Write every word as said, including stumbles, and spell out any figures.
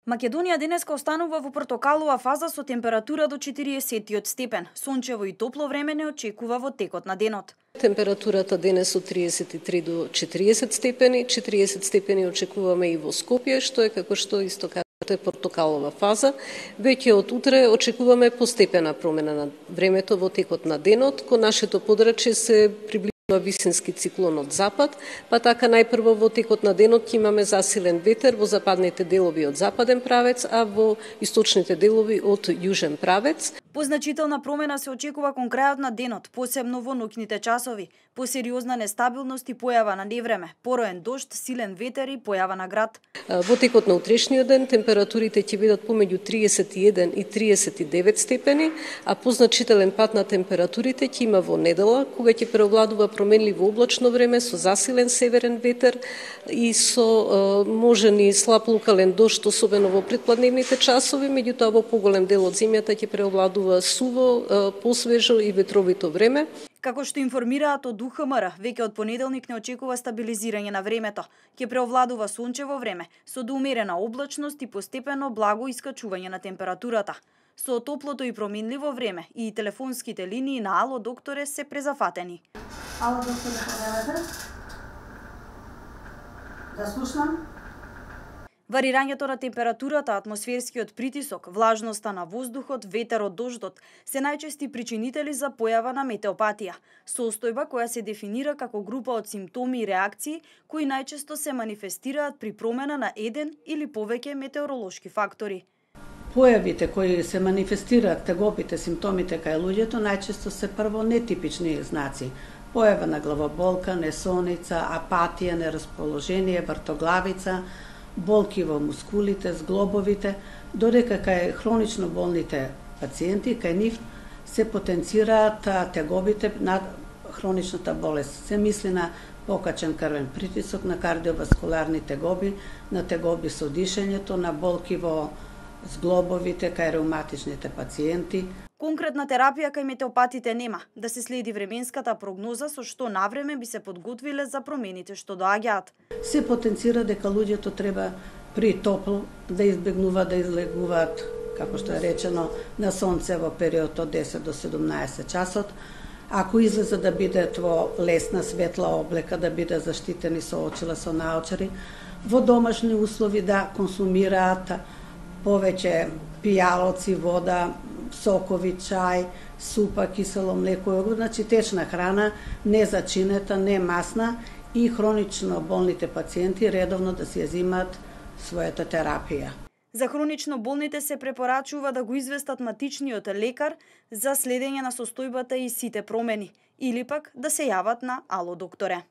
Македонија денеска останува во портокалова фаза со температура до четириесет степен. Сончево и топло време не очекува во текот на денот. Температурата денес од триесет и три до четириесет степени, четириесет степени очекуваме и во Скопје, што е како што исто кажете портокалова фаза. Веќе од утре очекуваме постепена промена на времето во текот на денот. Кон нашето подрачје се приближува висински циклон од запад, па така најпрво во текот на денот ќе имаме засилен ветер во западните делови од западен правец, а во источните делови од јужен правец. Позначителна промена се очекува кон крајот на денот, посебно во ноќните часови. Посериозна нестабилност и појава на невреме, пороен дожд, силен ветер и појава на град. Во текот на утрешниот ден температурите ќе бидат помеѓу триесет и еден и триесет и девет степени, а позначителен пат на температурите ќе има во недела, кога ќе преовладува променливо облачно време со засилен северен ветер и со е, можен и слаб локален дожд, особено во предпладневните часови, меѓутоа во поголем дел од земјата ќе преовладува суво, е, посвежо и ветровито време. Како што информираат од У Х М Р, веќе од понеделник не очекува стабилизирање на времето. Ќе преовладува сончево време, со доумерена облачност и постепено благо искачување на температурата. Со топлото и променливо време и телефонските линии на Ало докторе се презафатени. Ало докторе, повелете? Да слушнам. Варирањето на температурата, атмосферскиот притисок, влажноста на воздухот, ветерот, дождот се најчести причинители за појава на метеопатија, состојба која се дефинира како група од симптоми и реакции кои најчесто се манифестираат при промена на еден или повеќе метеоролошки фактори. Појавите кои се манифестираат, тегобите, симптомите кај луѓето најчесто се прво нетипични знаци. Појава на главоболка, несоница, апатија, нерасположение, вртоглавица, болки во мускулите, зглобовите, додека кај хронично болните пациенти, кај нив се потенцираат тегобите на хроничната болест. Се мисли на покачен крвен притисок, на кардиоваскуларни тегоби, на тегоби со дишењето, на болки во зглобовите кај реуматичните пациенти. Конкретна терапија кај метеопатите нема, да се следи временската прогноза со што навреме би се подготвиле за промените што доаѓаат. Се потенцира дека луѓето треба при топло да избегнуваат да излегуваат, како што е речено, на сонце во период од десет до седумнаесет часот. Ако излезат да бидат во лесна светла облека, да бидат заштитени со очила, со наочари, во домашни услови да консумираат повеќе пијалоци, вода, сокови, чај, супа, кисело млеко, јогурт, значи течна храна, не зачинета, не масна и хронично болните пациенти редовно да си ја земаат својата терапија. За хронично болните се препорачува да го известат матичниот лекар за следење на состојбата и сите промени, или пак да се јават на Ало докторе.